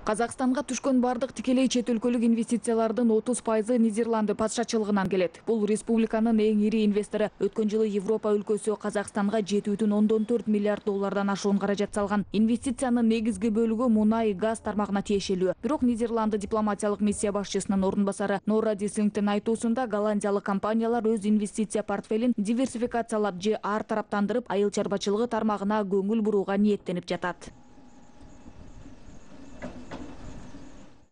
Казакстанга түшкөн бардык тикелей чет өлкөлүк инвестициялардын 30% Нидерланды патшачылыгынан келет. Бул республиканын эң ири инвестору. Өткөн жылы Европа өлкөсү Казакстанга 7,4 миллиард доллардан ашуун каражат салган. Инвестициянын негизги бөлүгү мунай, газ тармагына тиешелүү. Бирок Нидерланды дипломатиялык миссия башчысынын орун басары Нора Дислингтин айтуусунда голландиялык компаниялар өз инвестиция портфелин диверсификациялап же ар тараптандырып, айыл чарбачылыгы тармагына көңүл бурууга ниеттенип жатат.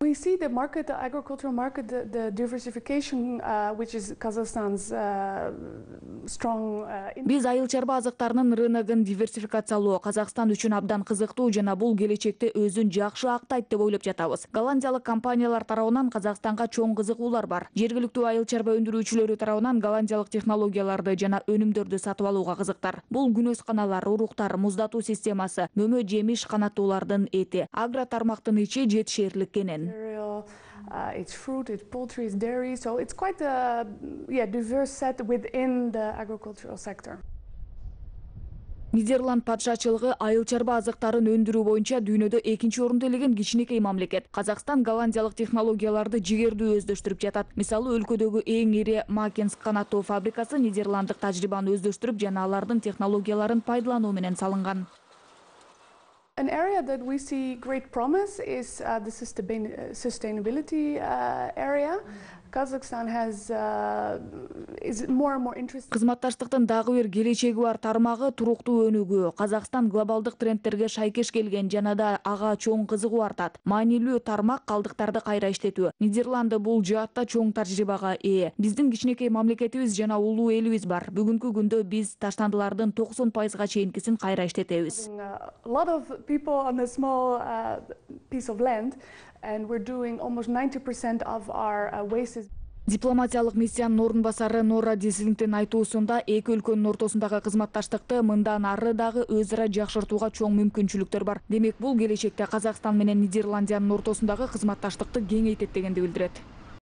We see the market, the agricultural market, the diversification, which is Kazakhstan's strong. Биз айыл чарба азыктарынын рыногун диверсификациялоо Казакстан үчүн абдан кызыктуу жана бул келечекте өзүн жакшы актайт деп ойлоп жатабыз. Голландиялык компаниялар тарабынан Казакстанга чоң кызыгуулар бар. Жергиликтүү айыл чарба өндүрүүчүлөрү тарабынан голландиялык технологияларды жана өнүмдөрдү сатып алууга кызыктар. Бул күнөсканалар, уруктар, муздатуу системасы, мөмө жемиш канаттуулардын эти, агро тармактын ичи жетишээрлик кенен. It's fruit, it's poultry, it's dairy, so it's quite a diverse set within the agricultural sector. Нидерланд патшачылыгы айыл чарба азыктарын өндүрүү боюнча дүйнөдө экинчи орунду ээлеген кичинекей мамлекет. Казакстан голландиялык технологияларды жигердүү өздөштүрүп жатат. Мисалы, өлкөдөгү эң ири Макенс канаттоо фабрикасы нидерланддык тажрыйбаны өздөштүрүп жана алардын технологияларын пайдалануу менен салынган. An area that we see great promise is the sustainability area. Kazakhstan is more and more interested. Кызматташтыктын дагы бир келечеги бар тармагы туруктуу өнүгүү. Казакстан глобалдык трендтерге шайкеш келген жана да ага чоң кызыгуу артат. Маанилүү тармак калдыктарды кайра иштетүү. Нидерланды бул жаатта чоң тажрыйбага ээ. Биздин кичинекей мамлекетибиз жана улуу элибиз бар. Бүгүнкү күндө биз таштандылардын 90%га чейинкисин кайра иштетебиз. A lot of people on a small piece of land, and we're doing almost 90% of our waste. Дипломатиялык миссиянын орун басары Нора Дислингтин айтуусунда эки өлкөнүн ортосундагы кызматташтыкты мындан ары дагы өз ара жакшыртууга чоң мүмкүнчүлүктөр бар. Демек, бул келечекте Казакстан менен Нидерландиянын ортосундагы кызматташтыкты кеңейтет дегенди билдирет.